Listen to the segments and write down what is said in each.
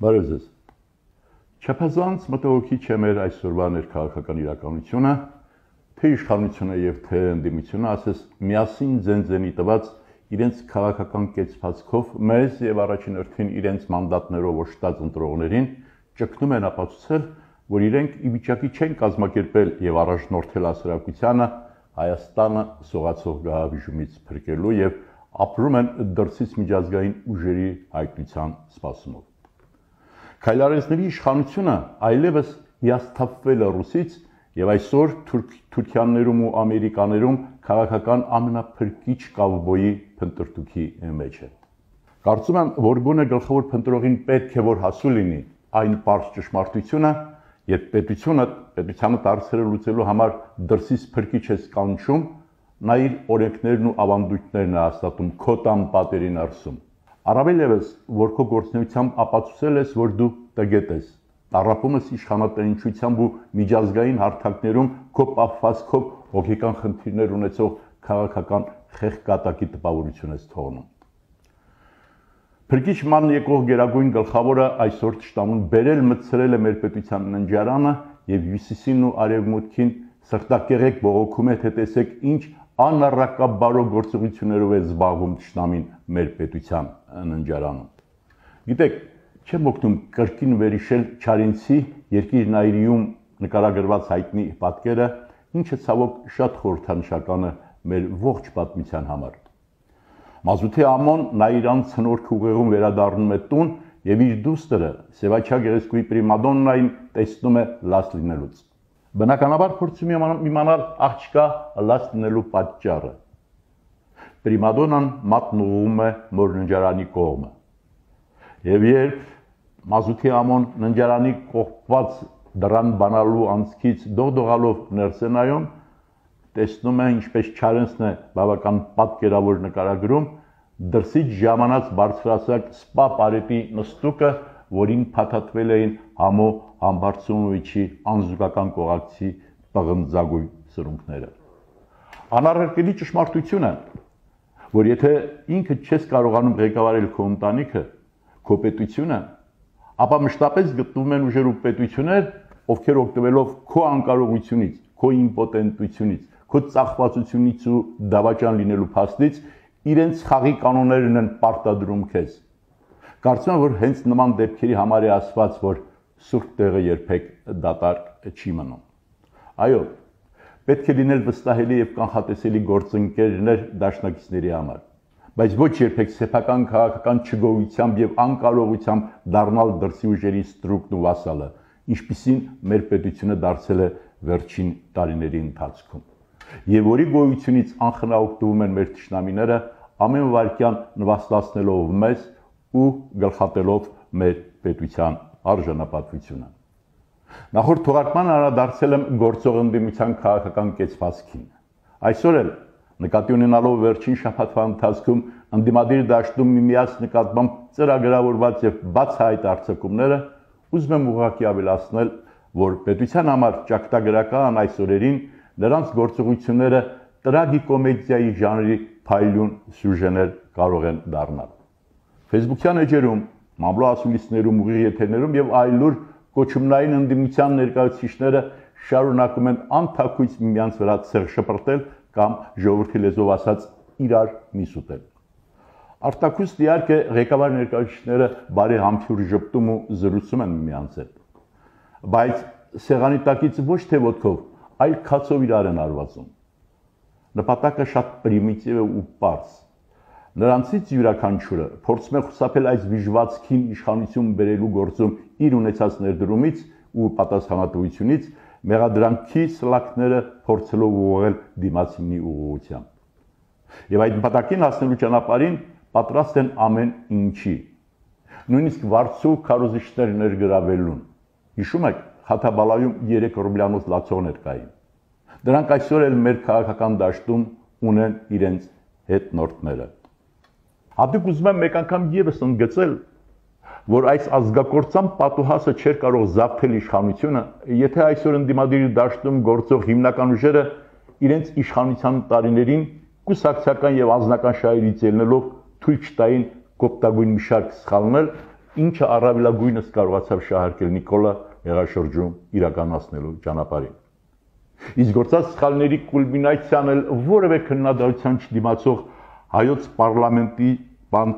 Բարև ձեզ։ Չափազանց մտահոգիչ է մեր այսօրվա ներքաղաքական իրականությունը, թե իշխանությունը եւ թե ընդդիմությունը, ասես միասին ձենձենի տված իրենց քաղաքական կեցվածքով մեզ եւ առաջին հերթին իրենց մանդատներով օժտած ընտրողներին ճգնում են ապացուցել, որ իրենք ի վիճակի չեն կազմակերպել եւ առաջնորդել հասարակությանը Հայաստանը սողացող գահավիժումից փրկելու եւ ապրում են դրսից միջազգային ուժերի հայտնության սպասումով։ Քայլարեցների իշխանությունը այլևս հիասթափվել է ռուսից եւ այսօր թուրքյաններում ու ամերիկաներում քաղաքական ամենափրկիչ կավբոյի փնտրտուքի մեջ է։ Կարծում եմ, որ գոնե գլխավոր փնտրողին պետք է որ հասու լինի այն պարզ ճշմարտությունը, երբ պետությանը դարձերը լուծելու համար դրսից փրկիչ ես կանչում, նա իր օրենքներն ու ավանդույթներն է հաստատում քո տան պատերի ներսում։ Առավել ևս, որ քո գործունեությամբ ապացուցել ես, որ դու տգետ ես, տառապում ես իշխանատենչությամբ ու միջազգային հարթակներում քո պահվածքով հոգեկան խնդիրներ ունեցող քաղաքական խեղկատակի տպավորություն ես թողնում։ Փրկիչ ման եկող գերագույն գլխավորը այսօր ճշտամուն բերել մտցրել է մեր պետության ննջարանը եւ հյուսիսին ու արևմուտքին սրտակեղեկ բողոքում է, թե տեսեք ինչ անառակաբարո գործողություններով է զբաղվում ճշտամին մեր պետության ննջարանում։ Գիտեք, չեմ օգնում կրկին վերհիշել Չարենցի երկիր Նայիրիում նկարագրված հայտնի պատկերը, ինչը ցավոք շատ խորհրդանշական է մեր ողջ պատմության համար։ Մազութի ամոն Նայիրան ցնորք ուղեղում վերադառնում է տուն եւ իր դուստրը Սևաչյա գեղեցկուի պրիմադոննային տեսնում է լաց լինելուց։ Բնականաբար փորձում է իմանալ աղջկա լաց լինելու պատճառը։ Պրիմադոնան մատնուղում է մոր ննջարանի կողմը։ Եվ երբ Մազութի ամոն ննջարանի կողպված դրան բանալու անցքից դողդողալով ներս է նայում, տեսնում է, ինչպես Չարենցն է բավական պատկերավոր նկարագրում, դրսից ժամանած բարձրացակ սպա պարետի նստուկը, որին փաթաթվել էին Համո Համբարձումովիչի անզուգական կողակցի պղնձագույն սրունքները։ Անառարկելի ճշմարտությունը, որ եթե ինքդ չես կարողանում ղեկավարել քո ընտանիքը, քո պետությունը, ապա մշտապես գտնվում են ուժեր ու պետություններ, ովքեր օգտվելով քո անկարողությունից, քո իմպոտենտությունից, քո ծախվածությունից ու դավաճան լինելու փաստից իրենց խաղի կանոններն են պարտադրում քեզ։ Կարծում եմ, որ հենց նման դեպքերի համար է ասված, որ սուրբ տեղը երբեք դատարկ չի մնում։ Այո, պետք է լինել վստահելի եւ կանխատեսելի գործընկերներ դաշնակիցների համար, բայց ոչ երբեք սեփական քաղաքական չգոյությամբ եւ անկարողությամբ դառնալ դրսի ուժերի ստրուկն ու վասալը, ինչպիսին մեր պետությունը դարձել է վերջին տարիների ընթացքում։ Եվ որի գոյությունից անխնայ են մեր թշնամիները ամեն վայրկյան նվաստացնելով մեզ ու գլխատելով մեր պետության արժանապատվությունը։ Նախորդ թողարկման անդրադարձել եմ գործող ընդդիմության քաղաքական կեցվածքին։ Այսօր էլ նկատի ունենալով վերջին շաբաթվա ընթացքում ընդդիմադիր դաշտում միմյանց նկատմամբ ծրագրավորված եւ բացահայտ արձակումները, ուզում եմ ուղղակի ավելացնել, որ պետության համար ճակատագրական այս օրերին նրանց գործողությունները տրագիկոմեդիայի ժանրի փայլուն սյուժեներ կարող են դառնալ։ Facebook-յան էջերում, մամլո ասուլիսներում, ուղիղ եթերներում եւ այլուր կոչումնային ընդդիմության ներկայացուցիչները շարունակում են անթաքույց միմյանց վրա ցեղ շպրտել կամ ժողովրդի լեզվով ասած իրար միս ուտել։ Արտաքուստ իհարկե ղեկավար ներկայացուցիչները բարի համբույր ժպտում ու զրուցում են միմյանց հետ, բայց սեղանի տակից ոչ թե ոտքով, այլ քացով իրար են արվածում։ Նպատակը շատ պրիմիտիվ է ու պարզ։ Նրանցից յուրաքանչյուրը փորձում է խուսափել այս վիժվածքին իշխանություն բերելու գործում իր ունեցած ներդրումից ու պատասխանատվությունից, մեղադրանքի սլաքները փորձելով ուղղել դիմացինի ուղղությամբ։ Եվ այդ նպատակին հասնելու ճանապարհին պատրաստ են ամեն ինչի, նույնիսկ վարձու քարոզիչներ ներգրավելուն։ Հիշում եք, Խաթաբալայում 3 ռուբլյանոց լացողներ կային։ Դրանք այսօր էլ մեր քաղաքական դաշտում ունեն իրենց հետնորդները։ Հատուկ ուզում եմ մեկ անգամ եւս ընդգծել, որ այս ազգակործան պատուհասը չէր կարող զավթել իշխանությունը, եթե այսօր ընդդիմադիր դաշտում գործող հիմնական ուժերը իրենց իշխանության տարիներին կուսակցական եւ անձնական շահերից ելնելով թույլ չտային կոպտագույն մի շարք սխալներ ինչը առավելագույնս կարողացավ շահարկել Նիկոլը հեղաշրջում իրականացնելու ճանապարհին։ Իսկ գործած սխալների կուլմինացիան էլ որևէ քննադատության չդիմացող հայոց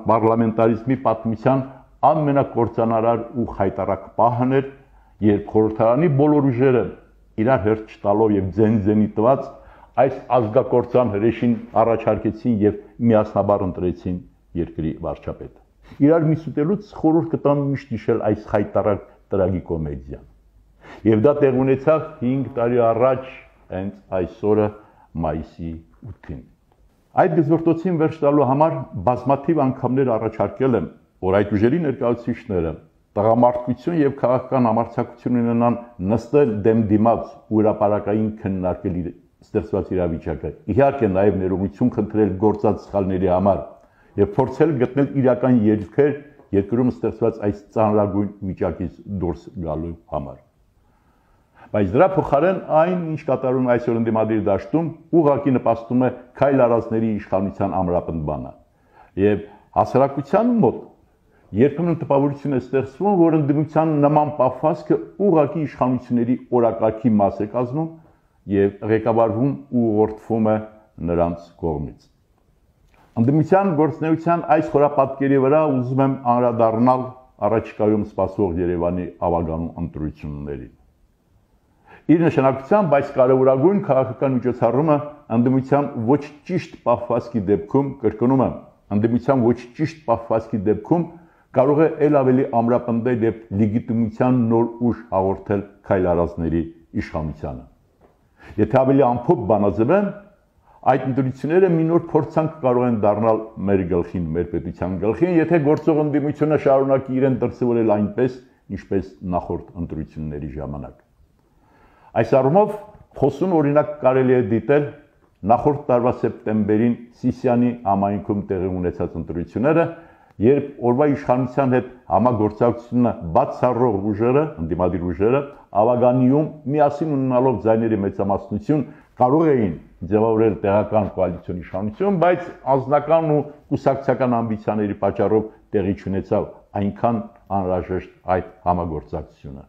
պարլամենտարիզմի պատմության ամենակործանարար ու խայտառակ պահն էր, երբ խորհրդարանի բոլոր ուժերը իրար հերթ չտալով եւ ձեն-ձենի տված այս ազգակործան հրեշին առաջարկեցին եւ միասնաբար ընտրեցին երկրի վարչապետ։ Իրար միսուտելուց խորհուրդ կտամ միշտ հիշել այս խայտառակ տրագիկոմեդիան։ Եվ դա տեղ ունեցավ 5 տարի առաջ, հենց այսօրը մայիսի 8-ին։ Այդ գզվրտոցին վերջ տալու համար բազմաթիվ անգամներ առաջարկել եմ, որ այդ ուժերի ներկայացուցիչները տղամարդկություն եւ քաղաքական համարձակություն ունենան նստել դեմ դիմաց ու հրապարակային քննարկել ստեղծված իրավիճակը։ Իհարկե նաեւ ներողություն խնդրել գործած սխալների համար եւ փորձել գտնել իրական ելքեր երկրում ստեղծված այս ծանրագույն վիճակից դուրս գալու համար։ Բայց դրա փոխարեն այն, ինչ կատարում է այսօր ընդդիմադիր դաշտում, ուղղակի նպաստում է քայլ արածների իշխանության ամրապնդմանը։ Եվ հասարակության մոտ երբեմն տպավորություն է ստեղծվում, որ ընդդիմության նման պահվածքը ուղղակի իշխանությունների օրակարգի մաս է կազմում եւ ղեկավարվում ու ուղղորդվում է նրանց կողմից։ Ընդդիմության գործունեության այս խորապատկերի վրա ուզում եմ անդրադառնալ առաջիկայում սպասվող Երևանի ավագանու ընտրություններին։ Իր նշանակությամբ այս կարևորագույն քաղաքական միջոցառումը ընդդիմության ոչ ճիշտ պահվածքի դեպքում, կրկնում եմ, ընդդիմության ոչ ճիշտ պահվածքի դեպքում կարող է ել ավելի ամրապնդել եւ լեգիտիմության նոր ուժ հաղորդել քայլ արածների իշխանությանը։ Եթե ավելի ամփոփ բանաձևեմ, այդ ընտրությունները մի նոր փորձանք կարող են դառնալ մեր գլխին, մեր պետության գլխին, եթե գործող ընդդիմությունը շարունակի իրեն դրսևորել այնպես, ինչպես նախորդ ընտրությունների ժամանակ։ Այս առումով խոսուն օրինակ կարելի է դիտել նախորդ տարվա սեպտեմբերին Սիսիանի համայնքում տեղի ունեցած ընտրությունները, երբ օրվա իշխանության հետ համագործակցությունը բացառող ուժերը, ընդդիմադիր ուժերը, ավագանիում միասին ունենալով ձայների մեծամասնություն կարող էին ձևավորել տեղական կոալիցիոն իշխանություն, բայց անձնական ու կուսակցական ամբիցիաների պատճառով տեղի չունեցավ այնքան անհրաժեշտ այդ համագործակցությունը։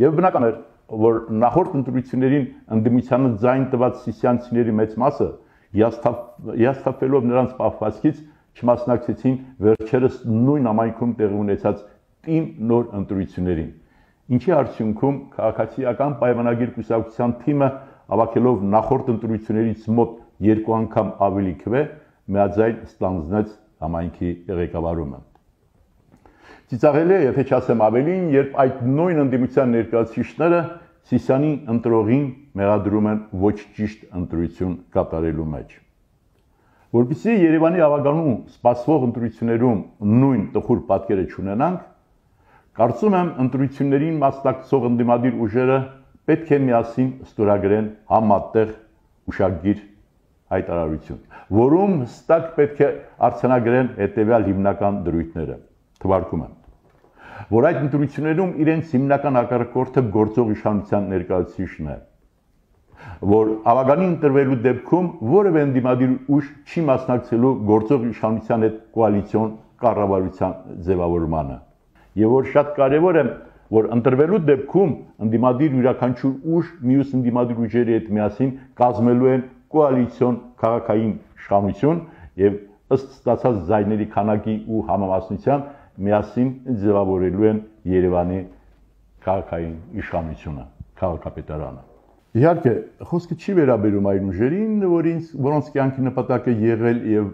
Եվ բնական էր, որ նախորդ ընտրություններին ընդդիմությանը ձայն տված սիսիանցիների մեծ մասը հիասթափվելով նրանց պահվածքից չմասնակցեցին վերջերս նույն համայնքում տեղի ունեցած տիմ նոր ընտրություններին, ինչի արդյունքում քաղաքացիական պայմանագիր կուսակցության թիմը ավակելով նախորդ ընտրություններից մոտ 2 անգամ ավելի քվե միաձայն ստանձնեց համայնքի ղեկավարումը։ Ծիծաղելի է, եթե չասեմ ավելին, երբ այդ նույն ընդդիմության ներկայացուցիչները Սիսիանի ընտրողին մեղադրում են ոչ ճիշտ ընտրություն կատարելու մեջ։ Որպեսզի Երևանի ավագանու սպասվող ընտրություններում նույն տխուր պատկերը չունենանք, կարծում եմ ընտրություններին մասնակցող ընդդիմադիր ուժերը պետք է միասին ստորագրեն համատեղ ուշագիր հայտարարություն, որում հստակ պետք է արձանագրեն հետևյալ հիմնական դրույթները։ Թվարկում եմ, որ այդ ընտրություններում իրենց հիմնական հակառակորդը գործող իշխանության ներկայացուցիչն է, որ ավագանի ընտրվելու դեպքում որևէ ընդդիմադիր ուժ չի մասնակցելու գործող իշխանության հետ կոալիցիոն կառավարության ձևավորմանը, եւ որ շատ կարեւոր է, որ ընտրվելու դեպքում ընդդիմադիր յուրաքանչյուր ուժ մյուս ընդդիմադիր ուժերի հետ միասին կազմելու են կոալիցիոն քաղաքային իշխանություն եւ ըստ ստացած ձայների քանակի ու համամասնության միասին ձևավորելու են Երևանի քաղաքային իշխանությունը, քաղաքապետարանը։ Իհարկե, խոսքը չի վերաբերում այն ուժերին, որոնց կյանքի նպատակը եղել եւ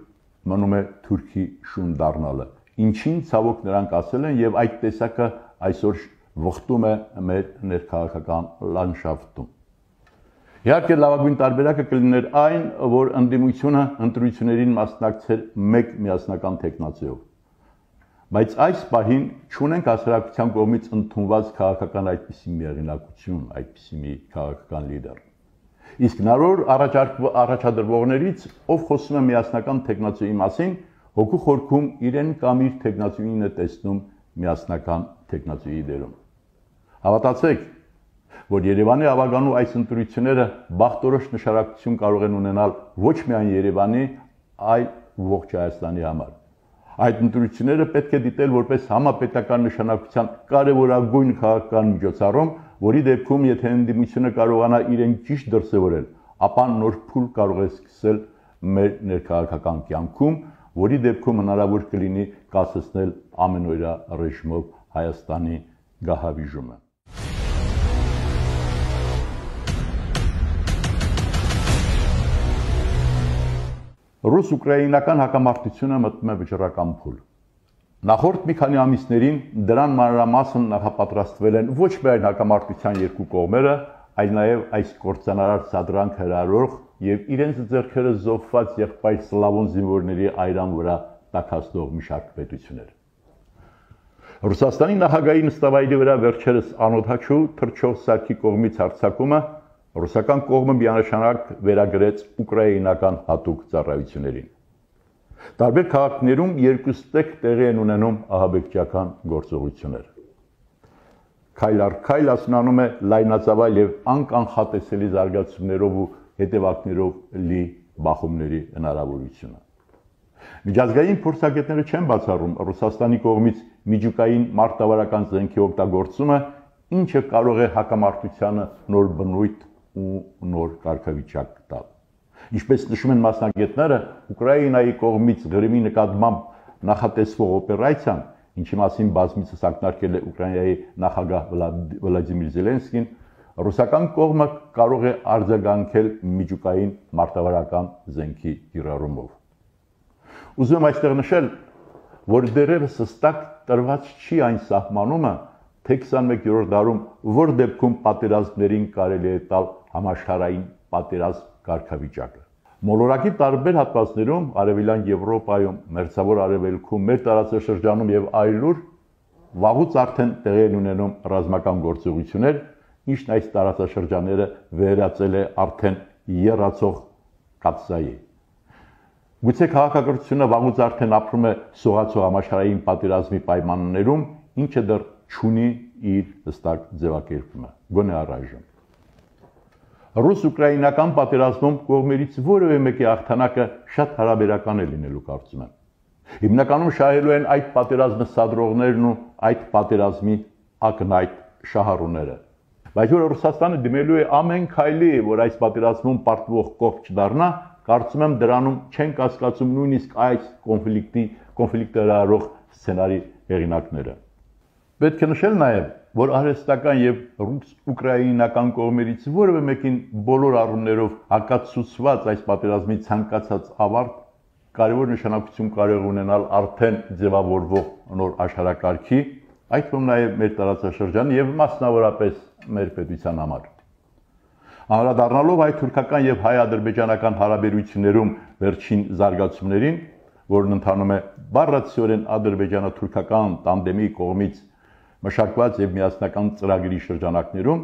մնում է Թուրքի շուն դառնալը, ինչին ցավոք նրանք ասել են եւ այդ տեսակը այսօր վխտում է մեր ներքաղաքական լանդշաֆտում։ Իհարկե, լավագույն տարբերակը կլիներ այն, որ ընդդիմությունը ընտրություններին մասնակցեր մեկ միասնական տեխնացիով։ Բայց այս պահին չունենք հասարակության կողմից ընդունված քաղաքական այդպիսի միեղինակություն, այդպիսի մի քաղաքական լիդեր։ Իսկ նոր առաջադրվողներից, ով խոսում է միասնական տեխնացիայի մասին, հոգու խորքում իրեն կամ իր տեխնացիին է տեսնում միասնական տեխնացիայի դերում։ Հավատացեք, որ Երևանի ավագանու այս ընտրությունները բախտորոշ նշանակություն կարող են ունենալ ոչ միայն Երևանի, այլ ողջ Հայաստանի համար։ Այդ ընտրությունները պետք է դիտել որպես համապետական նշանակության կարևորագույն քաղաքական միջոցառում, որի դեպքում եթե ընդդիմությունը կարողանա իրեն ճիշտ դրսևորել, ապա նոր փուլ կարող է սկսել մեր ներքաղաքական կյանքում, որի դեպքում հնարավոր կլինի կասեցնել ամենօրյա ռեժիմով Հայաստանի գահավիժումը։ Ռուս-ուկրաինական հակամարտությունը մտնում է վճռական փուլ։ Նախորդ մի քանի ամիսներին դրան մանրամասն նախապատրաստվել են ոչ միայն հակամարտության երկու կողմերը, այլ նաև այս կործանարար սադրանք հրահրող եւ իրենց ձեռքերը զոհված եղբայր սլավոն զինվորների այրան վրա տաքացնող մի շարք պետություններ։ Ռուսաստանի նախագահի նստավայրի վրա վերջերս անօդաչու թռչող սարքի կողմից հարձակումը ռուսական կողմը միանշանակ վերագրեց ուկրաինական հատուկ ծառայություններին։ Տարբեր քաղաքներում երկուստեք տեղի են ունենում ահաբեկչական գործողություններ։ Քայլ առ քայլ ասնանում է լայնածավալ եւ անկանխատեսելի զարգացումներով ու հետևանքներով լի բախումների հնարավորությունը։ Միջազգային փորձագետները չեն բացառում Ռուսաստանի կողմից միջուկային մարտավարական զենքի օգտագործումը, ինչը կարող է հակամարտությանը նոր բնույթ ու նոր կարգավիճակ տալ։ Ինչպես նշում են մասնագետները, Ուկրաինայի կողմից Ղրիմի նկատմամբ նախատեսվող օպերացիան, ինչի մասին բազմիցս ակնարկել է Ուկրաինայի նախագահ Վլադիմիր Զելենսկին, ռուսական կողմը կարող է արձագանքել միջուկային մարտավարական զենքի կիրառումով։ Ուզում եմ այստեղ նշել, որ դեռևս հստակ տրված չի այն սահմանումը, թե 21-րդ դարում որ դեպքում պատերազմներին կարելի է տալ համաշխարհային պատերազմ կարգավիճակը։ Մոլորակի տարբեր հատվածներում, Արևելյան Եվրոպայում, Մերձավոր Արևելքում, մեր տարածաշրջանում եւ այլուր վաղուց արդեն տեղի են ունենում ռազմական գործողություններ, ինչն այս տարածաշրջանները վերածել է արդեն եռացող կաթսայի։ Գուցե քաղաքակրթությունը վաղուց արդեն ապրում է սողացող համաշխարհային պատերազմի պայմաններում, ինչը դեռ չունի իր հստակ ձևակերպումը, գոնե առայժմ։ Ռուս-ուկրաինական պատերազմում կողմերից որևէ մեկի հաղթանակը շատ հարաբերական է լինելու կարծում եմ։ Հիմնականում շահելու են այդ պատերազմը սադրողներն ու այդ պատերազմի ակնհայտ շահառուները։ Բայց որ Ռուսաստանը դիմելու է ամեն քայլի, որ այս պատերազմում պարտվող կողմ չդառնա, կարծում եմ դրանում չեն կասկածում նույնիսկ այս կոնֆլիկտը հրահրող սցենարի հեղինակները։ Պետք է նշել նաև, որ արհեստական եւ ռուս-ուկրաինական կողմերից որևէ մեկին բոլոր առումներով հակացուցված այս պատերազմի ցանկացած ավարտ կարևոր նշանակություն կարող ունենալ արդեն ձևավորվող նոր աշխարհակարգի, այդ թվում նաև մեր տարածաշրջանի եւ մասնավորապես մեր պետության համար։ Անդրադառնալով հայ-թուրքական եւ հայ-ադրբեջանական հարաբերություններում վերջին զարգացումներին, որն ընթանում է բառացիորեն ադրբեջանա-թուրքական տանդեմի կողմից մշակված եւ միասնական ծրագրի շրջանակներում,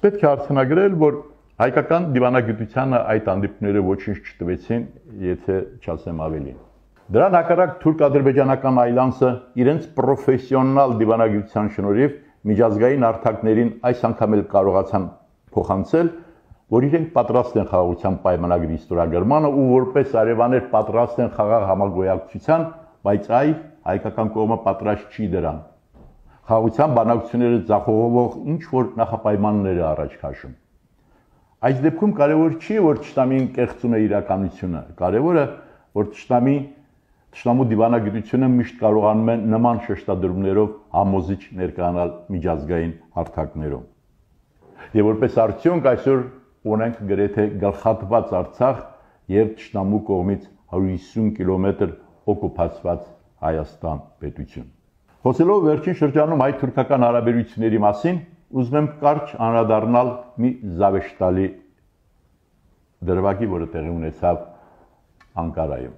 պետք է արձանագրել, որ հայկական դիվանագիտությանը այդ հանդիպումները ոչինչ չտվեցին, եթե չասեմ ավելին։ Դրան հակառակ թուրք-ադրբեջանական այլանսը իրենց պրոֆեսիոնալ դիվանագիտության շնորհիվ միջազգային հարթակներին այս անգամ էլ կարողացան փոխանցել, որ իրենք պատրաստ են խաղաղության պայմանագրի ստորագրմանը ու որպես արևաներ պատրաստ են խաղաղ համագոյակցության, բայց հայկական կողմը պատրաստ չի դրան։ Խաղաղության բանակցությունները ձախողվող ինչ որ նախապայմաններ է առաջ քաշում։ Այս դեպքում կարևոր չի, որ ճշտամին կեղծում է իրականությունը, կարևորը, որ ճշտամու դիվանագիտությունը միշտ կարողանում է նման շեշտադրումներով համոզիչ ներկայանալ միջազգային հարթակներում։ Եվ որպես արդյունք այսօր ունենք գրեթե գլխատված Արցախ եւ ճշտամու կողմից 150 կիլոմետր օկուպացված Հայաստան պետություն։ Խոսելով վերջին շրջանում հայ-թուրքական հարաբերությունների մասին, ուզում եմ կարճ անդրադառնալ մի զավեշտալի դրվագի, որը տեղի ունեցավ Անկարայում։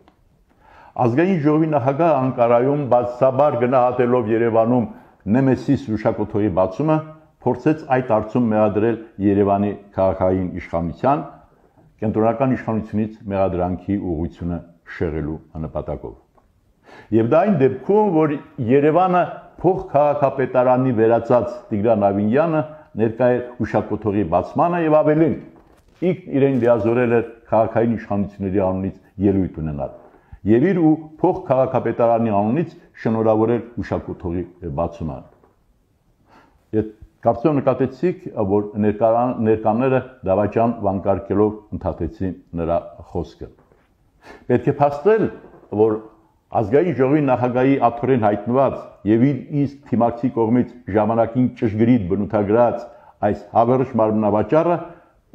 Ազգային ժողովի նախագահը Անկարայում բացաբար գնահատելով Երևանում Նեմեսիս հուշակոթողի բացումը, փորձեց այդ հարցում մեղադրել Երևանի քաղաքային իշխանության, կենտրոնական իշխանությունից մեղադրանքի ուղղությունը շեղելու նպատակով։ Եվ դա այն դեպքում, որ Երևանը փոխքաղաքապետարանի վերածած Տիգրան Ավինյանը ներկա է հուշակոթողի բացմանը եւ ավելին, իրեն լիազորել էր քաղաքային իշխանությունների անունից ելույթ ունենալ։ եւ իր ու փոխքաղաքապետարանի անունից շնորհավորել հուշակոթողի բացումը։ Կարծում նկատեցիք, որ ներկաները դավաճան վանկարկելով ընդհատեցին նրա խոսքը։ Պետք է փաստել, որ ազգային ժողովի նախագահի աթոռին հայտնված եւ իր իսկ թիմակցի կողմից ժամանակին ճշգրիտ բնութագրած այս հավերժ մարմնավաճառը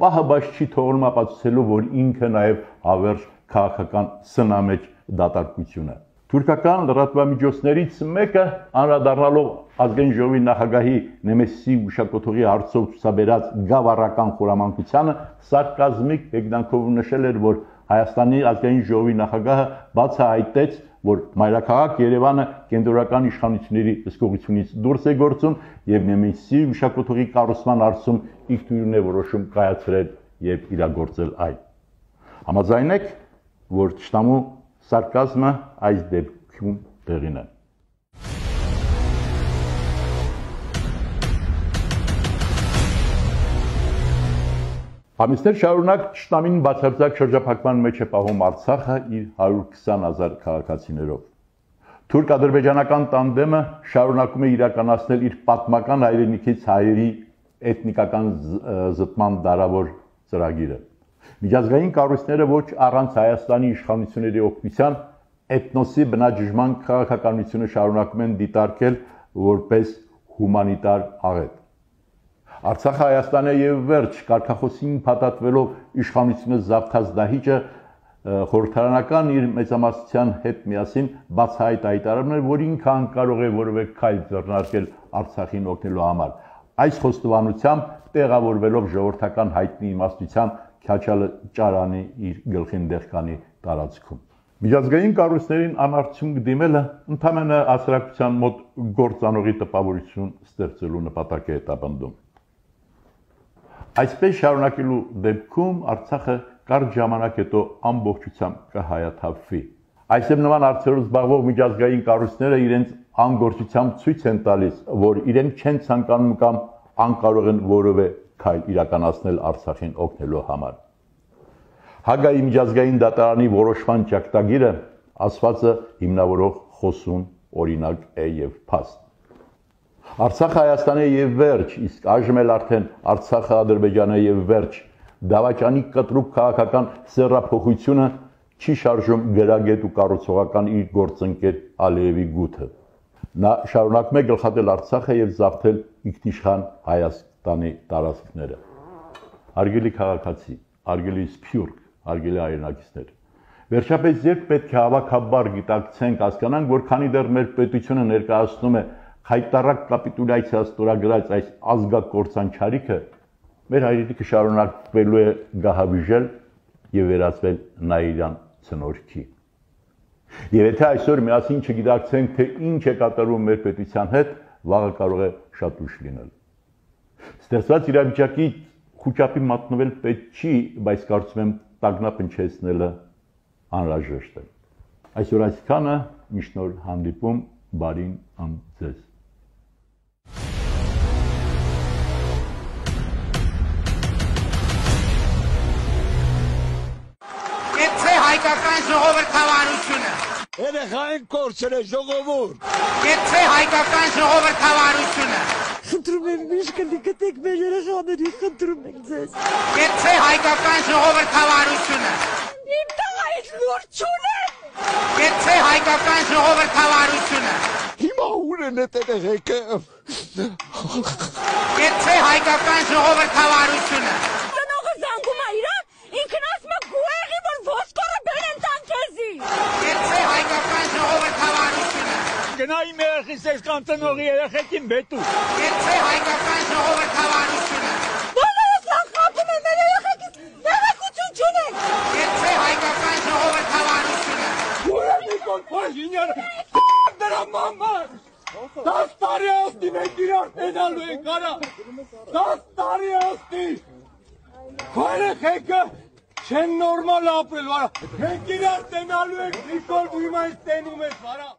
պահաբաց չի թողնում ապացուցելու, որ ինքը նաեւ հավերժ քաղաքական սնամեջ դատարկություն է։ Թուրքական լրատվամիջոցներից մեկը անդրադառնալով ազգային ժողովի նախագահի Նեմեսիսի հուշակոթողի հարցով ցուցաբերած գավառական խորամանկությանը սարկազմիկ հեգնանքով նշել էր, որ Հայաստանի ազգային ժողովի նախագահը բացահայտեց, որ մայրաքաղաք Երևանը կենտրոնական իշխանությունների հսկողությունից դուրս է գործում եւ Նեմեսիսի հուշակոթողի կառուցման հարցում ինքնուրույն է որոշում կայացրել եւ իրագործել այն։ Համաձայն եք, որ ճշտամու սարկազմը այս դեպքում տեղին է։ Ամիսներ շարունակ ճշտամին բացարձակ շրջափակման մեջ է պահում Արցախը իր 120,000 քաղաքացիներով։ Թուրք-ադրբեջանական տանդեմը շարունակում է իրականացնել իր պատմական հայրենիքից հայերի էթնիկական զտման դարավոր ծրագիրը։ Միջազգային կառույցները ոչ առանց Հայաստանի իշխանությունների օգնության էթնոսի բնաջնջման քաղաքականությունը շարունակում են դիտարկել որպես հումանիտար աղետ։ Արցախը Հայաստանը եւ վերջ կարգախոսին փաթաթվելով իշխանությունը զավթած դահիճը խորհրդարանական իր մեծամասնության հետ միասին բացահայտ հայտարարում էր, որ ինքը անկարող է որևէ քայլ ձեռնարկել Արցախին օգնելու համար։ Այս խոստովանությամբ տեղավորվելով ժողովրդական հայտնի իմաստության Քյաչալը ճարանի իր գլխին դեղկանի տարածքում։ Միջազգային կառույցներին անարդյուն դիմելը ընդհանրապես հասարակության մոտ գործանողի տպավորություն ստեղծելու նպատակ է հետապնդում։ Այսպես շարունակելու դեպքում Արցախը կարճ ժամանակ հետո ամբողջությամբ կհայաթափվի։ Այսպես նման հարցերով զբաղվող միջազգային կառույցները իրենց անգործությամբ ցույց են տալիս, որ իրենք չեն ցանկանում կամ անկարող են որևէ քայլ իրականացնել Արցախին օգնելու համար։ Հագայի միջազգային դատարանի որոշման ճակատագիրը ասվածը հիմնավորող խոսուն օրինակ է եւ փաստ։ Արցախը Հայաստանը եւ վերջ, իսկ այժմ էլ արդեն Արցախը Ադրբեջանը եւ վերջ դավաճանի կտրուկ քաղաքական սեռափոխությունը չի շարժում գրագետ ու կառուցողական իր գործընկեր Ալիևի գութը։ Նա շարունակում է գլխատել Արցախը եւ զավթել ինքնիշխան Հայաստանի տարածքները։ Հարգելի քաղաքացի, հարգելի սփյուռք, հարգելի հայրենակիցներ, վերջապես երբ պետք է հավաքաբար գիտակցենք, հասկանանք, որ քանի դեռ մեր պետությունը ներկայացնում է հայտարարակ կապիտուլյացիա ստորագրած այս ազգակործան չարիքը, մեր հայրենիքը շարունակվելու է գահավիժել եւ վերածվել նայիրան ցնորքի։ Եվ եթե այսօր միասին չգիտակցենք, թե ինչ է կատարվում մեր պետության հետ, վաղը կարող է շատ ուշ լինել։ Ստեղծված իրավիճակի խոչապի մատնվել պետք չի, բայց կարծում եմ տագնապնչեցնելը անհրաժեշտ է։ Այսօր այսքանը, միշտ նոր հանդիպում, բարին ձեզ։ Կեցցե հայկական ժողովրդավարությունը։ Երեխային կորցրել է ժողովուրդ։ Կեցցե հայկական ժողովրդավարությունը։ Խնդրում եմ միշկնի գտեք մեր երեխաների, խնդրում ենք ձեզ։ Կեցցե հայկական ժողովրդավարությունը։ Իմ տղայից լուրջ չունեմ։ Կեցցե հայկական ժողովրդավարությունը։ Հիմա ուր են էդ երեխեքը։ Կեցցե հայկական ժողովրդավարությունը։ Տնողը զանգում է իրան, ինքն ասում է գուեղի, որ ոսկորը բերեն տան քեզի։ Կեցցե հայկական ժողովրդավարությունը։ Գնա իմ երեխիս ես կամ տնողի երեխեքին բետու։ Կեցցե հայկական ժողովրդավարությունը։ Բոլորս նախապում են մեր երեխեքից, երեխություն չունենք։ Կեցցե հայկական ժողովրդավարությունը։ Ուր է Նիկոլ Փաշինյանը։ Դրա մաման։ 10 տարի ասնի մենք իրար տենալու ենք արա։ 10 տարի ասնի։ Երեխեքը չեն նորմալ ապրել, վարա։ Մենք իրար տենալու ենք Նիկոլ ու հիմա ինձ տենում ես, վարա։